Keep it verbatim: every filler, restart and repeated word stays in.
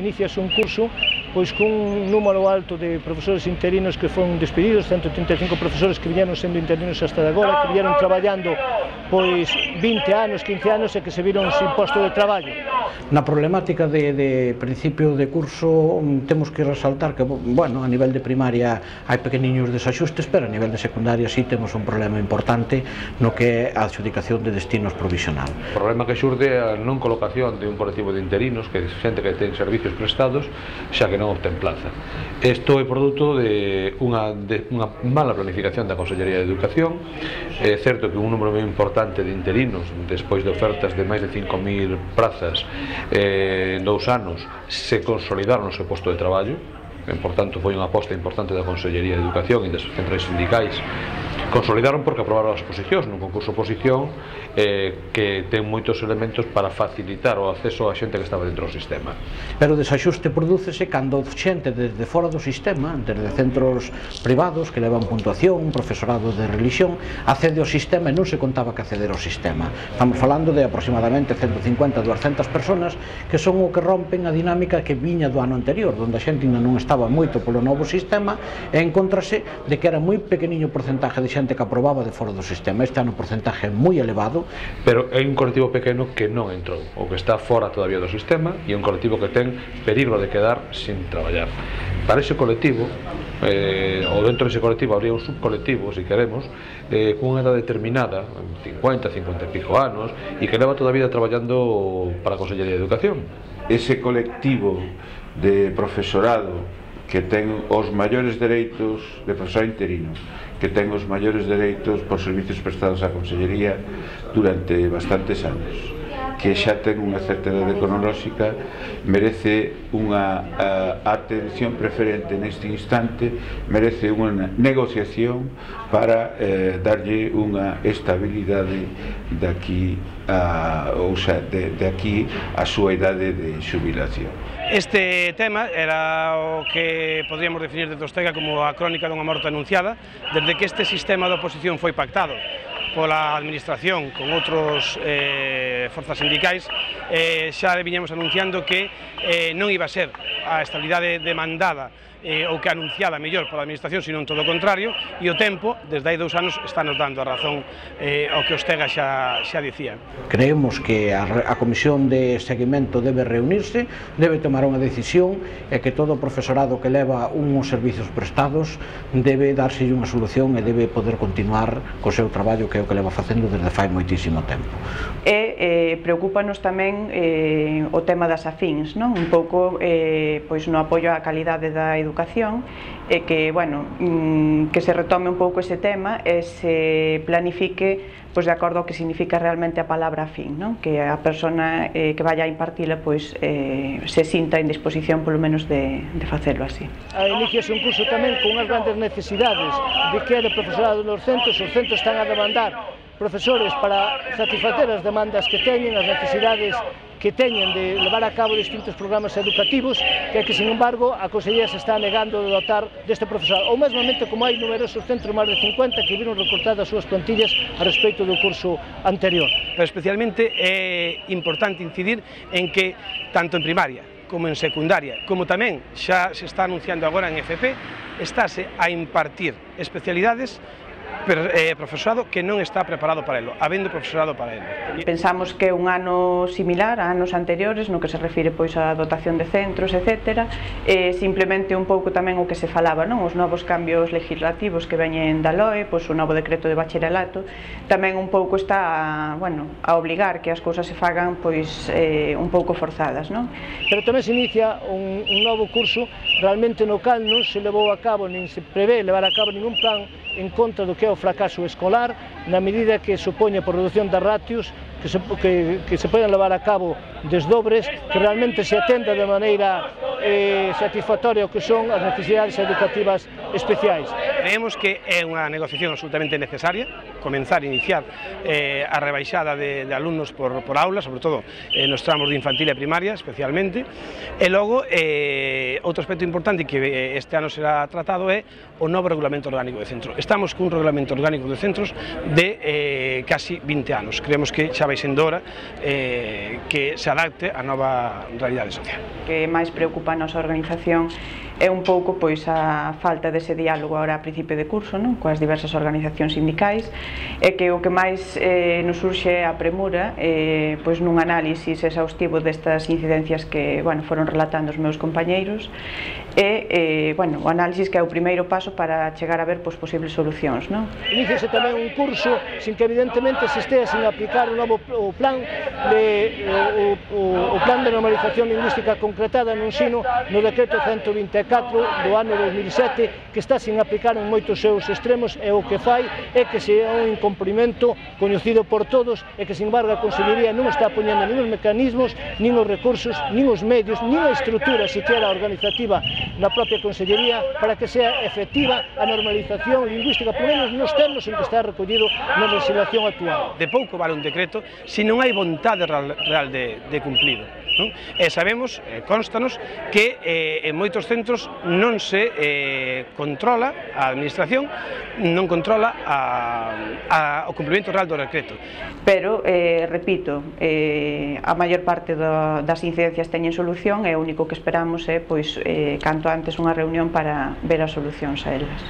iniciase un curso pois cun número alto de profesores interinos que foron despedidos, ciento trinta e cinco profesores que viñeron sendo interinos hasta de agora, que viñeron traballando pois vinte anos, quince anos e que se viron sin posto de traballo. Na problemática de, de principio de curso temos que resaltar que, bueno, a nivel de primaria hai pequeniños desaxustes, pero a nivel de secundaria sí temos un problema importante no que é a adxudicación de destinos provisional. O problema que xurde é a non colocación de un colectivo de interinos, que é xente que ten servicios prestados, xa que non obtén plaza. Isto é produto de unha, de unha mala planificación da Consellería de Educación. É certo que un número moi importante de interinos, despois de ofertas de máis de cinco mil prazas eh, en dous anos, se consolidaron no seu posto de traballo. E, por tanto, foi unha aposta importante da Consellería de Educación e das centrais sindicais. Consolidaron porque aprobaron as oposicións nun concurso oposición eh, que ten moitos elementos para facilitar o acceso a xente que estaba dentro do sistema. Pero o desaxuste prodúcese cando xente desde fora do sistema, desde centros privados que levan puntuación, un profesorado de religión, accede ao sistema e non se contaba que acceder ao sistema. Estamos falando de aproximadamente ciento cincuenta a duascentas personas que son o que rompen a dinámica que viña do ano anterior, onde a xente ainda non estaba moito polo novo sistema e encontrase de que era moi pequeniño porcentaje de xente que aprobaba de fora do sistema. Este ano o porcentaje é moi elevado. Pero é un colectivo pequeno que non entrou, o que está fora todavía do sistema, e un colectivo que ten perigo de quedar sin traballar. Para ese colectivo, eh, ou dentro dese colectivo habría un subcolectivo, se queremos, eh, cunha edad determinada, cincuenta, cincuenta e pico anos, e que leva toda a vida traballando para a Consellería de Educación. Ese colectivo de profesorado que ten os maiores dereitos de profesor interino, que ten os maiores dereitos por servicios prestados á Consellería durante bastantes anos, que xa ten unha certa edade cronolóxica, merece unha a, atención preferente neste instante, merece unha negociación para eh, darlle unha estabilidade daqui a, ou xa, de, de aquí a súa idade de xubilación. Este tema era o que podríamos definir desde Ostega como a crónica dunha morte anunciada, desde que este sistema de oposición foi pactado pola administración con outros eh, forzas sindicais, eh, xa viñamos anunciando que eh, non iba a ser a estabilidade demandada eh, ou que anunciada mellor pola administración, sino todo o contrario, e o tempo, desde hai dous anos, está nos dando a razón eh, ao que Ostega xa, xa dicía. Creemos que a, a Comisión de Seguimento debe reunirse, debe tomar unha decisión e que todo o profesorado que leva uns servicios prestados debe darse unha solución e debe poder continuar co seu traballo, que é o que leva facendo desde fai moitísimo tempo. E eh, preocúpanos tamén eh, o tema das afíns, non? Un pouco eh, pois no apoio á calidade da educación, e que, bueno, que se retome un pouco ese tema e se planifique pois de acordo ao que significa realmente a palabra afín, non? Que a persona eh, que vaya a impartila pois eh, se sinta en disposición polo menos de, de facelo así. Iniciase un curso tamén con unhas grandes necesidades de que é de profesorado nos centros. Os centros están a demandar profesores para satisfacer as demandas que teñen, as necesidades que teñen de levar a cabo distintos programas educativos, que, que sin embargo, a Consellería se está negando de dotar deste profesorado. Ou mesmamente como hai numerosos centros, máis de cincuenta, que viron recortadas as súas plantillas a respecto do curso anterior. Pero especialmente é importante incidir en que, tanto en primaria como en secundaria, como tamén xa se está anunciando agora en F P, estáse a impartir especialidades eh, profesorado que non está preparado para elo, habendo profesorado para elo. Pensamos que é un ano similar a anos anteriores no que se refire pois á dotación de centros, etcétera, e simplemente un pouco tamén o que se falaba, non? Os novos cambios legislativos que veñen da L O E, pois o novo decreto de bacharelato, tamén un pouco está a, bueno, a obligar que as cousas se fagan pois eh, un pouco forzadas, non? Pero tamén se inicia un, un novo curso realmente no cal non se levou a cabo, nin se prevé levar a cabo ningún plan en contra do que é o fracaso escolar, na medida que supoñe por reducción das ratios, que se, que, que se poden levar a cabo desdobres, que realmente se atenda de maneira eh, satisfactoria o que son as necesidades educativas especiais. Creemos que é unha negociación absolutamente necesaria, comenzar a iniciar eh, a rebaixada de, de alumnos por, por aula, sobre todo eh, nos tramos de infantil e primaria especialmente, e logo eh, outro aspecto importante que este ano será tratado é o novo regulamento orgánico de centro. Estamos cun regulamento orgánico de centros de eh, casi vinte anos, creemos que xa vai sendo hora eh, que se adapte a nova realidade social. O que máis preocupa a nosa organización é un pouco pois a falta dese diálogo agora a principio de curso, non? Coas diversas organizacións sindicais, e que o que máis eh, nos surxe a premura eh, pois nun análisis exhaustivo destas incidencias que, bueno, foron relatando os meus compañeiros, e eh, bueno, o análisis que é o primeiro paso para chegar a ver pois, posibles solucións, non? Iníciase tamén un curso sin que evidentemente se estea sin aplicar o novo o plan de o, o, o plan de normalización lingüística concretada no ensino no decreto ciento vinte e catro do ano dos mil sete, que está sin aplicar en moitos seus extremos, e o que fai é que se é un incumprimento coñecido por todos, e que sin embargo a Consellería non está poñendo nin os mecanismos, nin os recursos, nin os medios, nin a estrutura siquiera organizativa na propia Consellería para que sea efectiva a normalización lingüística, por menos nos termos en que está recollido na legislación actual. De pouco vale un decreto se non hai vontade real de, de cumplido. Non? E sabemos, eh, constanos, que eh, en moitos centros non se eh, controla a administración, non controla a, a, o cumprimento real do decreto. Pero, eh, repito, eh, a maior parte do, das incidencias teñen solución, e o único que esperamos é, pois, eh, canto antes unha reunión para ver as solucións a elas.